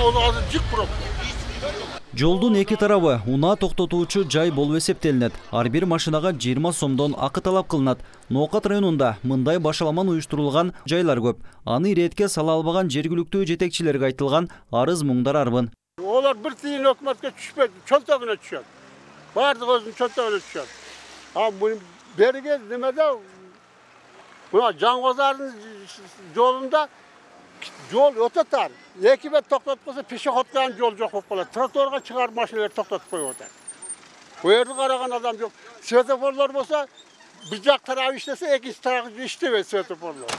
Ол азыр жык пробка. Жолдун эки тарабы унаа токтотуучу жай болуп эсептелинет. Ар бир машинага 20 сомдон акы талап кылынат. Ноокат районунда мындай башаламан уюштурулган жайлар көп. Аны иретке сала албаган жергиликтүү жетекчилерге айтылган арыз муңдар арбын. Олар бир тиын өкмөткө түшпөйт, чөнтөгүнө түшөт. Бардык өзүнүн чөнтөгүнө түшөт. Берге немеде мына Жаңгозардын жолунда жол өтө тар. Эки бет токтотконсо пешеходдун жол жок болуп калат. Тротуарга чыгарып машиналар токтотуп коюп атат. Бу жерди караган адам жок. Светофорлор болсо бир жак тарабы иштесе, экинчи тарабы иштебейт светофорлор.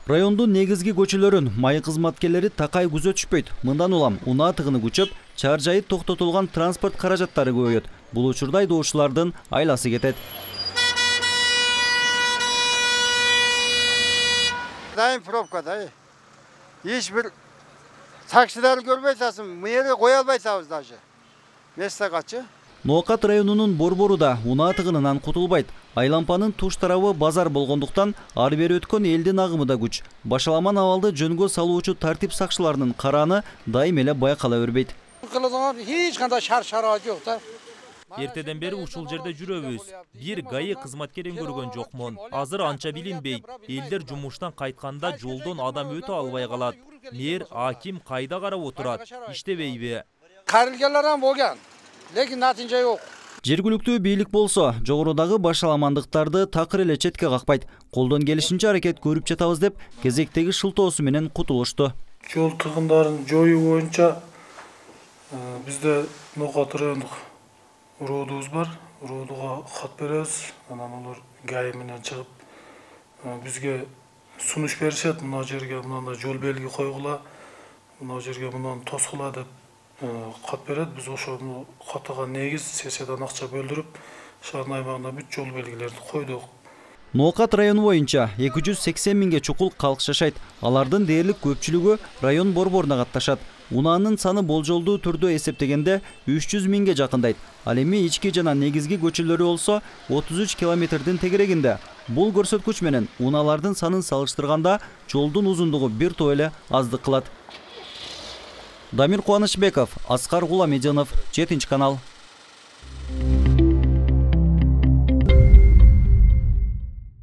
Райондун негизги көчөлөрүн майы кызматкерлери такай күзөтүшпөйт. Мындан улам унаа тыгыны күчөп, чаар жайы токтотулган транспорт каражаттары көбөйөт. Бул учурда айдоочулардын айласы кетет. Дайым пробкада. Эч бир таксилерди көрбөй атасың, мыйерге кое албайсыз даже. Местагачы. Ноокат районунун борбору да унаа тыгынынан кутулбайт. Айлампанын туш тарабы базар болгондуктан ар бери өткөн элдин агымы да күч. Башаламан абалды жөнгө салуучу тартип сакчыларынын карааны дайым эле байкала бербейт. Эч кандай шар-шара жок да. Эртеден бери ушул жерде жүрөбүз. Бир ГАИ кызматкерин көргөн жокмун. Азыр анча билинбейт. Элдер жумуштан кайтканда жолдон адам өтө албай калат. Мэр, аким кайда карап отурат? Иштебейби? Карылганлардан болгон, лекин натыйжа жок. Жергиликтүү бийлик болсо, жогорудагы башаламандыктарды такыр эле четке какпайт. Колдон келишинче аракет көрүп жатабыз деп, кезектеги шылтоосу менен кутулушту. Жол тыгындарын жоюу боюнча бизде Ноокат райондук уроодубуз бар. Уроодуга кат беребиз. Анан алар ГАИ менен чыгып бизге сунуш беришет. Мына жерге мындай жол белги койгула, мына жерге мындан тоскула деп кат берет. Биз ошо катага негиз сессиядан акча бөлдүрүп, шаардын аймагында бүт жол белгилерди койдук. Ноокат району боюнча 280 миңге чукул калк жашайт. Алардын дээрлик көпчүлүгү район борборуна катташат. Унаанын саны болжолдуу түрдө эсептегенде 300 миңге жакындайт. Ал эми ички жана негизги көчөлөрү болсо 33 километрдин тегерегинде. Бул көрсөткүч менен унаалардын санын салыштырганда жолдун узундугу бир топ эле аздык кылат. Дамир Кубанычбеков, Аскар Гуламединов, 7 канал.